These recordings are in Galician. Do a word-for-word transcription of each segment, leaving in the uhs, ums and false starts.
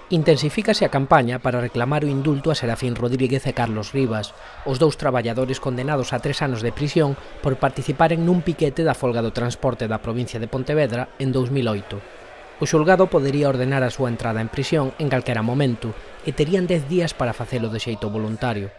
Intensifícase a campaña para reclamar o indulto a Serafín Rodríguez e Carlos Rivas, os dous traballadores condenados a tres anos de prisión por participaren nun piquete da folga do transporte da provincia de Pontevedra en dous mil oito. O xulgado podería ordenar a súa entrada en prisión en calquera momento e terían dez días para facelo de xeito voluntario.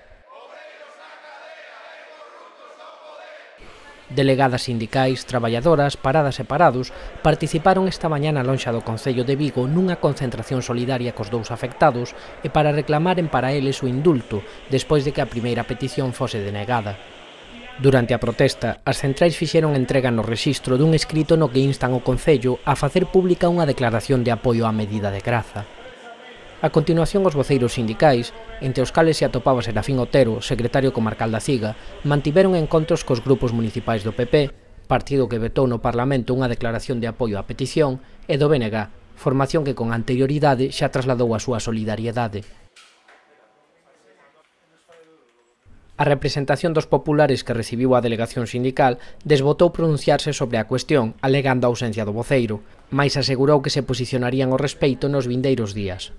Delegadas sindicais, traballadoras, paradas e parados participaron esta mañá na lonxa do Concello de Vigo nunha concentración solidaria cos dous afectados e para reclamaren para eles o indulto despois de que a primeira petición fose denegada. Durante a protesta, as centrais fixeron entrega no rexistro dun escrito no que instan o Concello a facer pública unha declaración de apoio á medida de Graza. A continuación, os voceiros sindicais, entre os cales se atopaba Serafín Otero, secretario comarcal da Ciga, mantiveron encontros cos grupos municipais do P P, partido que vetou no Parlamento unha declaración de apoio á petición, e do B N G, formación que con anterioridade xa trasladou a súa solidariedade. A representación dos populares que recibiu a delegación sindical desbotou pronunciarse sobre a cuestión, alegando a ausencia do voceiro, mais asegurou que se posicionarían ao respecto nos vindeiros días.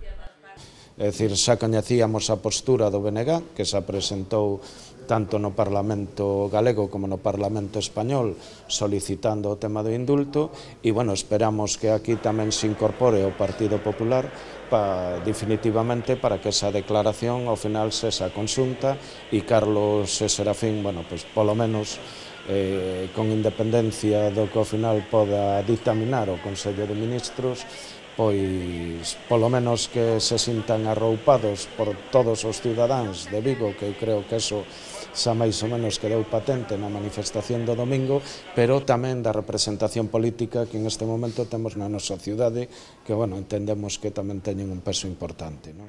É dicir, xa coñecíamos a postura do B N G, que se presentou tanto no Parlamento galego como no Parlamento español solicitando o tema do indulto e, bueno, esperamos que aquí tamén se incorpore o Partido Popular pa, definitivamente para que esa declaración ao final se esa consulta e Carlos e Serafín, bueno, pues polo menos eh, con independencia do que ao final poda dictaminar o Consello de Ministros, pois polo menos que se sintan arroupados por todos os cidadáns de Vigo, que eu creo que eso xa máis ou menos quedou patente na manifestación do domingo, pero tamén da representación política que en este momento temos na nosa cidade, que, bueno, entendemos que tamén teñen un peso importante, non?